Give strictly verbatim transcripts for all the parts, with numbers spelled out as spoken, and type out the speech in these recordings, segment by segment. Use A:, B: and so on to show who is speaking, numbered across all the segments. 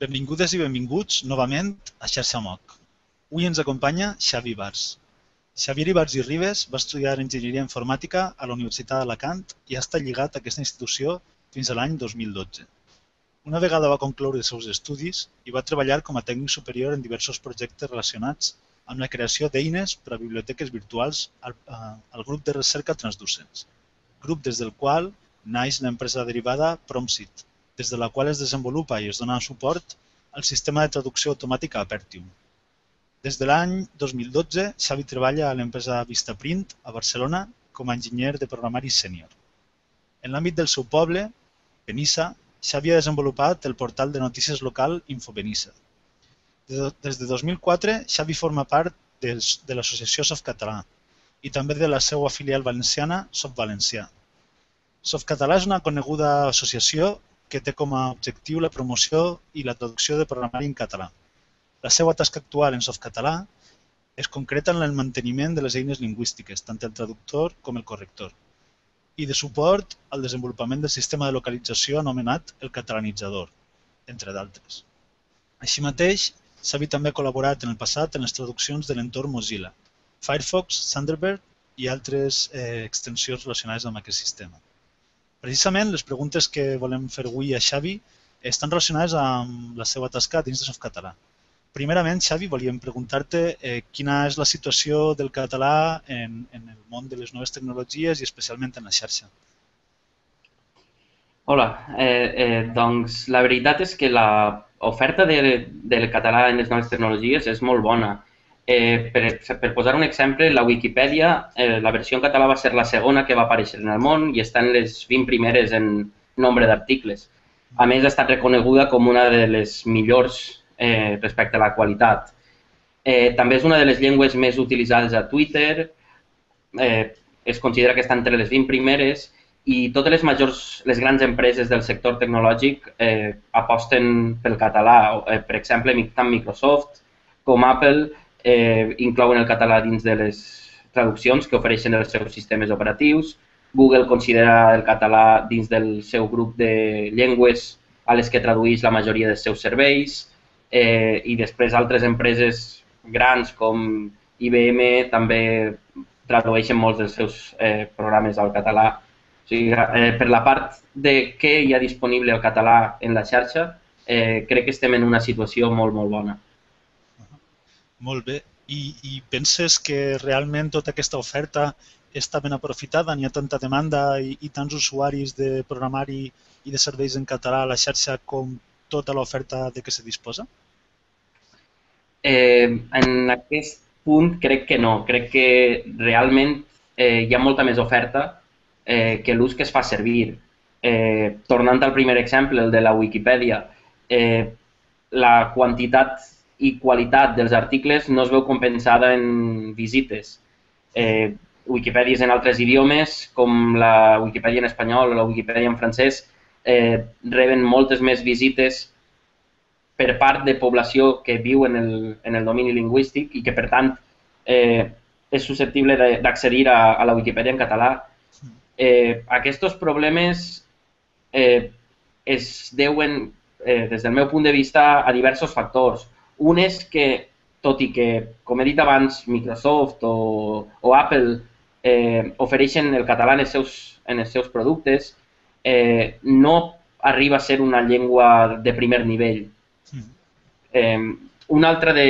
A: Benvingudes i benvinguts novament a Xarxa M O C. Avui ens acompanya Xavi Ibars. Xavier Ibars i Ribes va estudiar Enginyeria Informàtica a la Universitat d'Alacant i ha estat lligat a aquesta institució fins a l'any dos mil dotze. Una vegada va concloure els seus estudis i va treballar com a tècnic superior en diversos projectes relacionats amb la creació d'eines per a biblioteques virtuals al, al grup de recerca Transducens, grup des del qual naix l'empresa derivada PromSit, des de la qual es desenvolupa i es dona suport al sistema de traducció automàtica Apertium. Des de l'any dos mil dotze, Xavi treballa a l'empresa Vistaprint a Barcelona com a enginyer de programari sènior. En l'àmbit del seu poble, Benissa, Xavi ha desenvolupat el portal de notícies local InfoBenissa. Des de dos mil quatre, Xavi forma part de l'associació Softcatalà i també de la seva filial valenciana Softvalencià. Softcatalà és una coneguda associació que té com a objectiu la promoció i la traducció de programari en català. La seva tasca actual en Softcatalà es concreta en el manteniment de les eines lingüístiques, tant el traductor com el corrector, i de suport al desenvolupament del sistema de localització anomenat el catalanitzador, entre d'altres. Així mateix, Xavi també ha col·laborat en el passat en les traduccions de l'entorn Mozilla, Firefox, Thunderbird i altres eh, extensions relacionades amb aquest sistema. Precisament, les preguntes que volem fer avui a Xavi estan relacionades amb la seva tasca dins de Softcatalà. Primerament, Xavi, volíem preguntar-te eh, quina és la situació del català en, en el món de les noves tecnologies i especialment en la xarxa.
B: Hola, eh, eh, doncs la veritat és que l'oferta de, del català en les noves tecnologies és molt bona. Eh, per, per posar un exemple, la Wikipedia, eh, la versió en català va ser la segona que va aparèixer en el món i està en les vint primeres en nombre d'articles. A més, ha estat reconeguda com una de les millors eh, respecte a la qualitat. Eh, també és una de les llengües més utilitzades a Twitter, eh, es considera que està entre les vint primeres i totes les majors, les grans empreses del sector tecnològic eh, aposten pel català. Eh, per exemple, tant Microsoft com Apple Eh, inclouen el català dins de les traduccions que ofereixen els seus sistemes operatius. Google considera el català dins del seu grup de llengües a les que tradueix la majoria dels seus serveis eh, i després altres empreses grans com I B M també tradueixen molts dels seus eh, programes al català. O sigui, eh, per la part de què hi ha disponible el català en la xarxa, eh, crec que estem en una situació molt, molt bona.
A: Molt bé. I, I penses que realment tota aquesta oferta està ben aprofitada? N'hi ha tanta demanda i, i tants usuaris de programari i de serveis en català a la xarxa com tota l'oferta de què se disposa?
B: Eh, en aquest punt crec que no. Crec que realment eh, hi ha molta més oferta eh, que l'ús que es fa servir. Eh, tornant al primer exemple, el de la Wikipedia, eh, la quantitat i qualitat dels articles no es veu compensada en visites. Eh, Wikipèdies en altres idiomes, com la Wikipedia en espanyol o la Wikipedia en francès, eh, reben moltes més visites per part de població que viu en el, en el domini lingüístic i que, per tant, eh, és susceptible d'accedir a, a la Wikipedia en català. Eh, aquests problemes eh, es deuen, eh, des del meu punt de vista, a diversos factors. Un és que, tot i que, com he dit abans, Microsoft o, o Apple eh, ofereixen el català en els seus, en els seus productes, eh, no arriba a ser una llengua de primer nivell. Eh, un, altre de,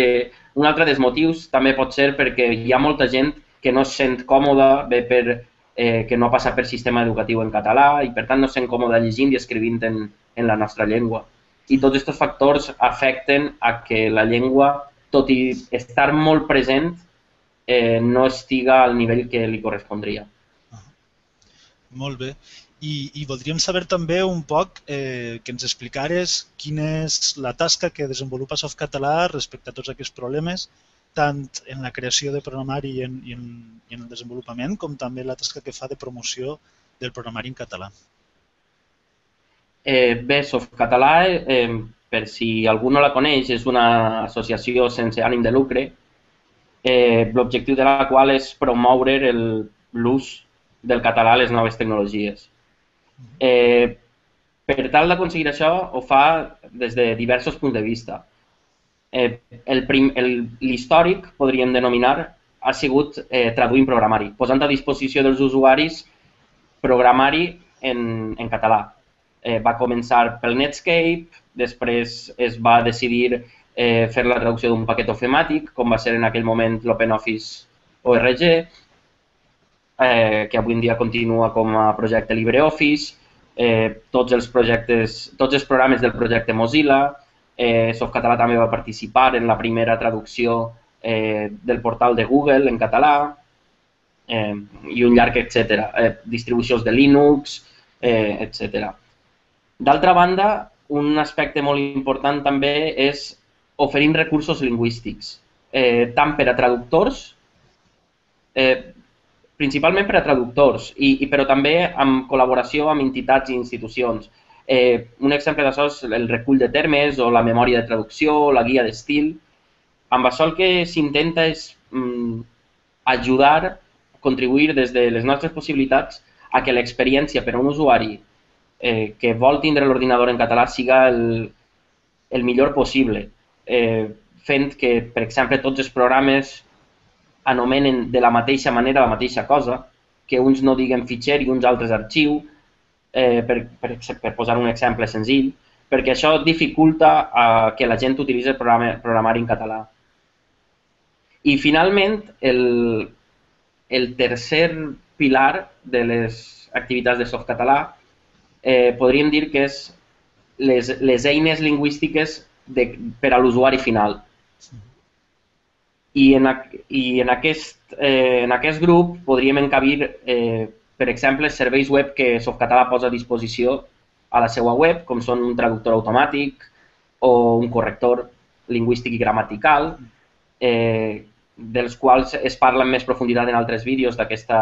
B: un altre dels motius també pot ser perquè hi ha molta gent que no es sent còmoda, bé per eh, que no passa per sistema educatiu en català i per tant no es sent còmoda llegint i escrivint en, en la nostra llengua. I tots aquests factors afecten a que la llengua, tot i estar molt present, eh, no estiga al nivell que li correspondria.
A: Ah, molt bé. I, i voldríem saber també un poc eh, que ens explicares quina és la tasca que desenvolupa Softcatalà respecte a tots aquests problemes, tant en la creació de programari i en, i en, i en el desenvolupament, com també la tasca que fa de promoció del programari en català.
B: Eh, bé, Softcatalà, eh, per si algú no la coneix, és una associació sense ànim de lucre, eh, l'objectiu de la qual és promoure l'ús del català a les noves tecnologies. Eh, Per tal d'aconseguir això, ho fa des de diversos punts de vista. Eh, L'històric, podríem denominar, ha sigut eh, traduint programari, posant a disposició dels usuaris programari en, en català. Eh, va començar pel Netscape, després es va decidir eh, fer la traducció d'un paquet ofemàtic, com va ser en aquell moment l'OpenOffice O R G, eh, que avui en dia continua com a projecte LibreOffice, eh, tots els projectes, tots els programes del projecte Mozilla, eh, Softcatalà també va participar en la primera traducció eh, del portal de Google en català, eh, i un llarg etcètera. Eh, distribucions de Linux, eh, etcètera. D'altra banda, un aspecte molt important també és oferint recursos lingüístics, eh, tant per a traductors, eh, principalment per a traductors, i, i però també amb col·laboració amb entitats i institucions. Eh, un exemple d'això és el recull de termes o la memòria de traducció, la guia d'estil. Amb això el que s'intenta és mm, ajudar, contribuir des de les nostres possibilitats a que l'experiència per a un usuari eh, que vol tindre l'ordinador en català siga el, el millor possible, eh, fent que, per exemple, tots els programes anomenen de la mateixa manera la mateixa cosa, que uns no diguen fitxer i uns altres arxiu, eh, per, per, per posar un exemple senzill, perquè això dificulta eh, que la gent utilitzi el programa, programari en català. I finalment, el, el tercer pilar de les activitats de Softcatalà eh, podríem dir que és les, les eines lingüístiques de, per a l'usuari final. I en, i en, aquest, eh, en aquest grup podríem encabir, eh, per exemple, serveis web que Softcatalà posa a disposició a la seva web, com són un traductor automàtic o un corrector lingüístic i gramatical, eh, dels quals es parla en més profunditat en altres vídeos d'aquesta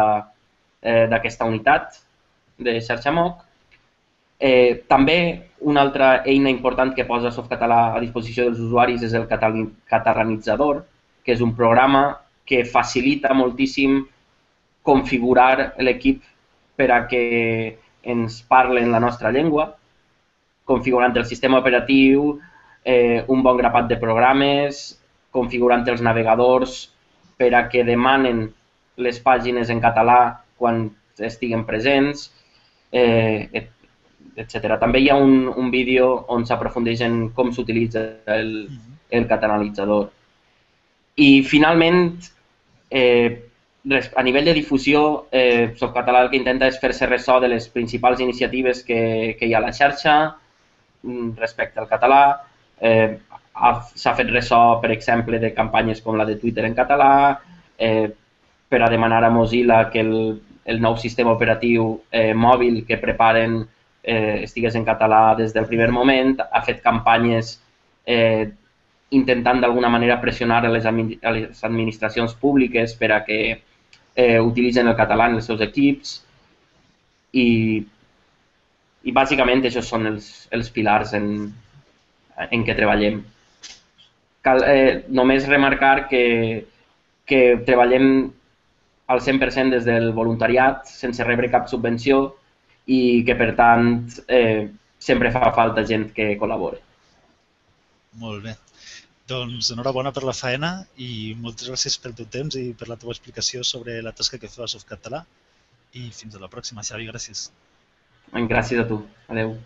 B: eh, d'aquesta unitat de xarxa M O C. Eh, també una altra eina important que posa Softcatalà a disposició dels usuaris és el catalanitzador, que és un programa que facilita moltíssim configurar l'equip per a que ens parlen la nostra llengua, configurant el sistema operatiu, eh, un bon grapat de programes, configurant els navegadors per a que demanen les pàgines en català quan estiguen presents, eh, etcètera. També hi ha un, un vídeo on s'aprofundeix en com s'utilitza el, el catalanitzador. I finalment, eh, a nivell de difusió, eh, Softcatalà el que intenta és fer-se ressò de les principals iniciatives que, que hi ha a la xarxa respecte al català. Eh, S'ha fet ressò, per exemple, de campanyes com la de Twitter en català, eh, per a demanar a Mozilla que el, el nou sistema operatiu eh, mòbil que preparen eh, estigués en català des del primer moment. Ha fet campanyes eh, intentant d'alguna manera pressionar a les, a les administracions públiques per a que eh, utilitzen el català en els seus equips, i, i bàsicament aquests són els, els pilars en, en què treballem. Cal eh, només remarcar que, que treballem al cent per cent des del voluntariat, sense rebre cap subvenció, i que per tant eh, sempre fa falta gent que col·labori.
A: Molt bé. Doncs enhorabona per la feina i moltes gràcies pel teu temps i per la teva explicació sobre la tasca que feu a Softcatalà. I fins a la pròxima, Xavi. Gràcies.
B: Gràcies a tu. Adéu.